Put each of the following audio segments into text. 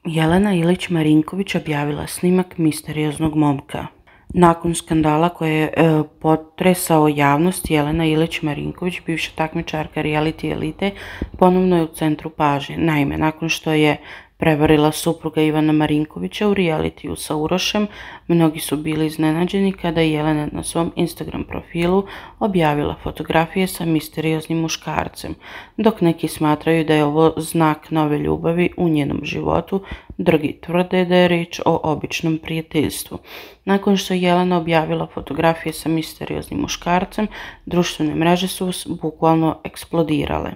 Jelena Ilić Marinković objavila snimak misterioznog momka. Nakon skandala koji je potresao javnost, Jelena Ilić Marinković, bivša takmičarka reality elite, ponovno je u centru pažnje. Naime, nakon što je prevarila supruga Ivana Marinkovića u realitiju sa Urošem, mnogi su bili iznenađeni kada je Jelena na svom Instagram profilu objavila fotografije sa misterioznim muškarcem. Dok neki smatraju da je ovo znak nove ljubavi u njenom životu, drugi tvrde da je riječ o običnom prijateljstvu. Nakon što je Jelena objavila fotografije sa misterioznim muškarcem, društvene mreže su bukvalno eksplodirale.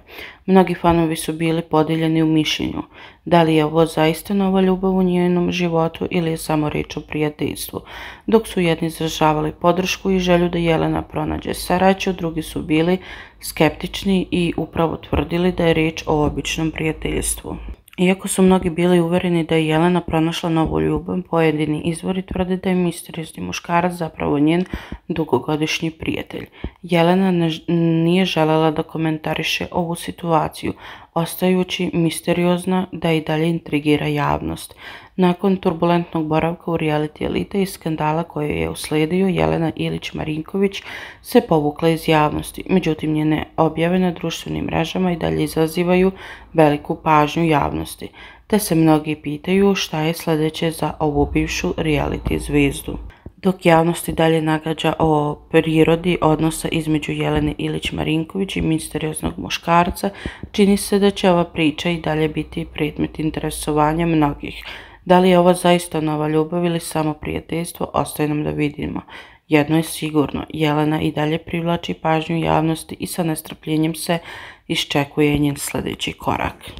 Mnogi fanovi su bili podijeljeni u mišljenju. Da li je ovo zaista nova ljubav u njenom životu ili je samo riječ o prijateljstvu? Dok su jedni izražavali podršku i želju da Jelena pronađe sreću, drugi su bili skeptični i upravo tvrdili da je riječ o običnom prijateljstvu. Iako su mnogi bili uvereni da je Jelena pronašla novu ljubav, pojedini izvori tvrde da je misteriozni muškarac zapravo njen dugogodišnji prijatelj. Jelena nije željela da komentariše ovu situaciju, ostajući misteriozna da i dalje intrigira javnost. Nakon turbulentnog boravka u reality elite i skandala koji je uslijedio, Jelena Ilić Marinković se povukla iz javnosti. Međutim, njene objave na društvenim mrežama i dalje izazivaju veliku pažnju javnosti, te se mnogi pitaju šta je sljedeće za ovu bivšu reality zvezdu. Dok javnosti dalje nagađa o prirodi odnosa između Jelene Ilić Marinković i misterioznog muškarca, čini se da će ova priča i dalje biti predmet interesovanja mnogih. Da li je ovo zaista nova ljubav ili samo prijateljstvo, ostaje nam da vidimo. Jedno je sigurno, Jelena i dalje privlači pažnju javnosti i sa nestrpljenjem se iščekuje njen sljedeći korak.